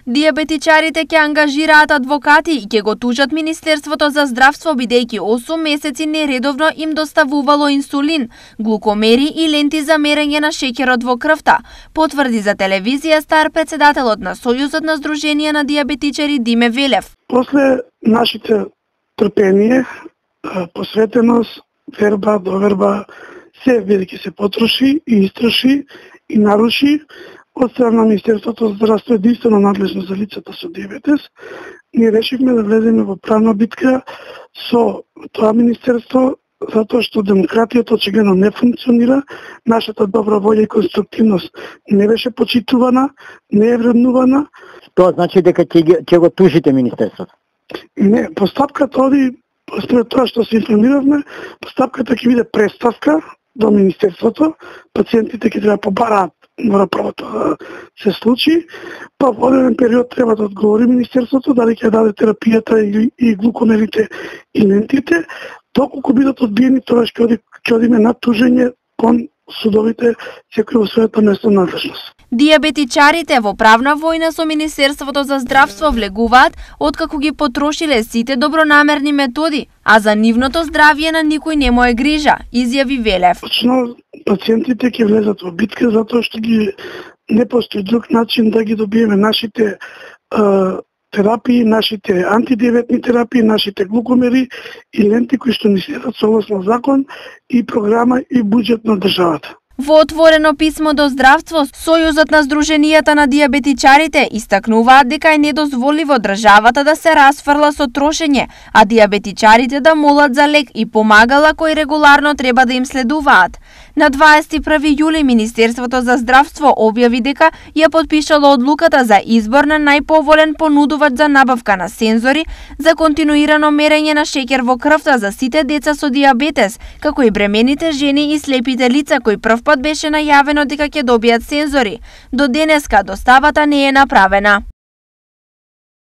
Диабетичарите ќе ангажираат адвокати и ќе го тужат Министерството за здравство бидејќи 8 месеци нередовно им доставувало инсулин, глукомери и ленти за мерење на шеќерот во крвта, потврди за телевизија Стар председателот на Сојузот на Сдруженија на диабетичари Диме Велев. После нашите трпение, посветеност, верба, доверба, се бидејќи се потроши и истроши и наруши од страна на Министерството за здравство единствено надлежно за лицата со диабетес, ние решивме да влеземе во правна битка со тоа министерство, затоа што демократијата очигледно не функционира, нашата добра волја и конструктивност не беше почитувана, не е вреднувана. Тоа значи дека ќе го тужите министерството? Не, постапката оди, според тоа што се информиравме, постапката ќе биде преставка до министерството, пациентите ќе треба побараат, мора прво тоа да се случи, па во одреден период треба да одговори министерството дали ќе даде терапијата и глукомерите и лентите, доколку бидат одбиени, тогаш ќе одиме на тужење кон судовите, секој во својата местна надлежност. Диабетичарите во правна војна со Министерството за здравство влегуваат откако ги потрошиле сите добронамерни методи, а за нивното здравје на никој не му е грижа, изјави Велев. Точно пациентите ќе влезат во битка затоа што не постои друг начин да ги добиеме нашите терапии, нашите антидиабетни терапии, нашите глукомери и ленти кои што ни следат согласно закон и програма и буџет на државата. Во отворено писмо до здравство, Сојузот на Сдруженијата на диабетичарите истакнуваат дека е недозволиво државата да се расфрла со трошење, а диабетичарите да молат за лек и помагала кои регуларно треба да им следуваат. На 21 јули Министерството за здравство објави дека ја потпишало одлуката за избор на најповолен понудувач за набавка на сензори за континуирано мерење на шеќер во крвта за сите деца со диабетес, како и бремените жени и слепите лица кои првпат беше најавено дека ќе добијат сензори. До денеска доставата не е направена.